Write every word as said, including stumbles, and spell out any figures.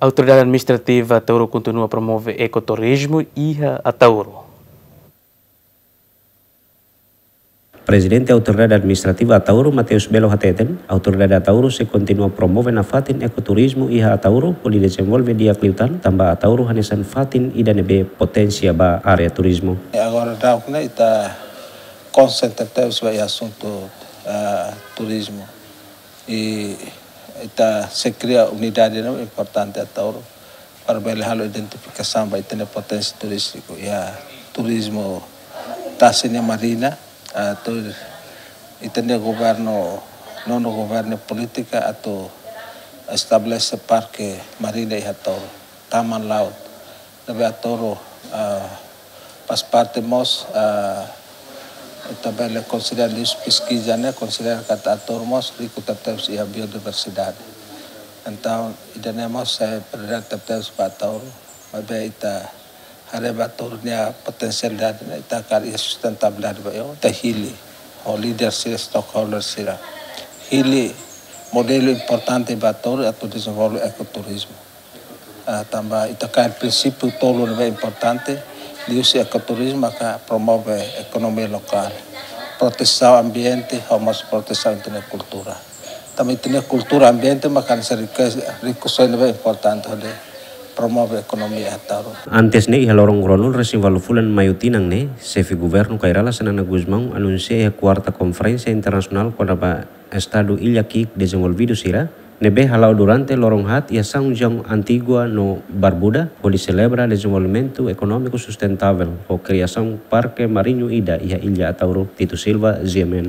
Autoridade Administrativa Ataúro kontinua promove ekoturizmu iha Ataúro. Prezidente Autoridade Administrativa Ataúro, Mateus Belo hateten, Autoridade Ataúro sei kontinua promove nafatin ekoturizmu iha Ataúro, hodi dezenvolve di'ak liután, tanba Ataúro hanesan fatin ida ne'ebé poténsia ba área turizmu. Agora daudaun ne'e ita konsentra tebes ba iha asuntu, ah, turizmu. I ita sei kria unidade ne'ebé importante Ataúro para bele halo identifikasaun ba ita-nia poténsia turístiku iha turizmu tasi nia marina, atu ita-nia governu, nonu governu polítika atu estabelese parke marina iha Ataúro, taman laut. Ne'ebé Ataúro, ah, faz parte mós, ah, ita bele konsidera liuhusi peskiza ne'e, konsidera katak Ataúro mós riku tebetebes iha biodiversidade. Entaun, ida-ne'e mós sai prioridade tebetebes ba Ataúro, maibé ita haree ba Ataúro nia potensialidade ne'e, ita hakarak iha sustentabilidade ba, ita hili ho líder sira, stakeholder sira. Hili modelu importante ba Ataúro atu dezenvolve ekoturizmu. Ah, tanba ita kaer prinsípiu tolu ne'ebé importante, liuhusi ekoturizmu maka promove ekonomia lokál, protesaun ambiente, ho mós protesaun ita-nia kultura. Tanba ita-nia kultura, ambiente maka hanesan rikeza, rikusoin ne'ebé importante hodi promove ekonomia Ataúro. Antes ne'e, iha loron ruanulu resin ualu fulan Maiu tinan ne'e, Xefe Governu Kay Rala Xanana Gusmão anunsia iha kuarta konferénsia internasionál kona-ba estadu illa ki'ik dezenvolvidu sira, ne'ebé hala'o durante loron haat iha São João Antigua no Barbuda, hodi selebra dezenvolvimentu ekonómiku sustentável ho kriasaun parke mariñu ida iha illa Ataúro, Tito Silva, G M N.